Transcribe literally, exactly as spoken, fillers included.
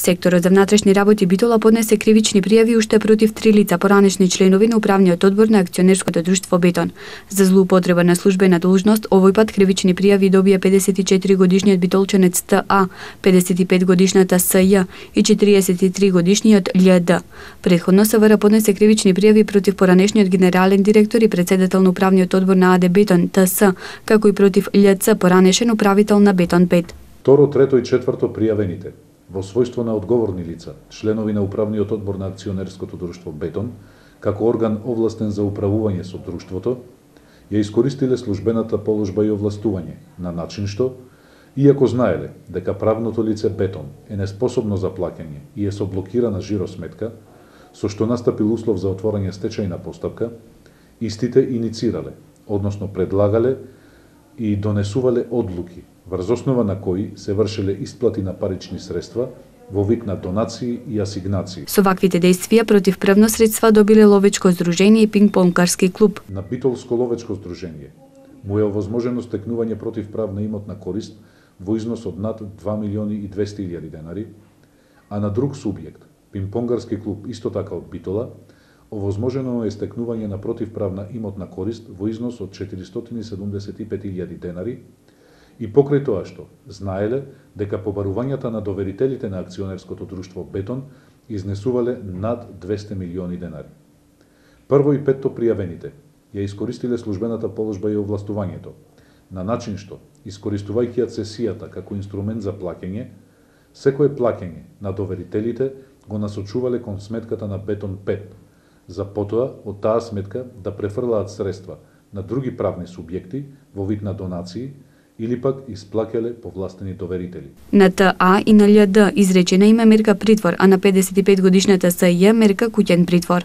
Секторот за внатрешни работи Битола поднесе кривични пријави уште против три лица, поранешни членови на управниот одбор на акционерското друштво Бетон. За злоупотреба на службена должност, овој пат кривични пријави добија педесет и четири годишниот битолченец Т А, педесет и пет годишната С Ј и четириесет и три годишниот Л Д. Претходно С В Р поднесе кривични пријави против поранешниот генерален директор и председател на управниот одбор на А Д Бетон Т С, како и против Л Ц, поранешен управител на Бетон пет. Второ, трето и четврто пријавените во својство на одговорни лица, членови на управниот одбор на акционерското друштво Бетон, како орган овластен за управување со друштвото, ја искористиле службената положба и овластување на начин што, иако знаеле дека правното лице Бетон е неспособно за плаќање и е со блокирана жиросметка, со што настапил услов за отворање стечајна постапка, истите иницирале, односно предлагале и донесувале одлуки, врз основа на кои се вршеле исплати на парични средства во вид на донации и асигнации. Со ваквите действија против правно средства добиле ловечко здружение и пинг-понкарски клуб. На Битолско ловечко здружение му е овозможено стекнување против правна имотна корист во износ од над два милиони и двесте илјади денари, а на друг субјект, пинг-понкарски клуб исто така од Битола, овозможено е стекнување на противправна имотна корист во износ од четиристотини и седумдесет и пет илјади денари, и покрај тоа што знаеле дека побарувањата на доверителите на акционерското друштво Бетон изнесувале над двесте милиони денари. Прво и петто пријавените ја искористиле службената положба и овластувањето, на начин што, искористувајќи ја цесијата како инструмент за плаќање, секое плаќање на доверителите го насочувале кон сметката на Бетон пет, за потоа од таа сметка да префрлаат средства на други правни субјекти во вид на донации или пак исплаќале повластени доверители. На Т А и на Л Д изречена има мерка притвор, а на педесет и пет годишната С Ј мерка куќен притвор.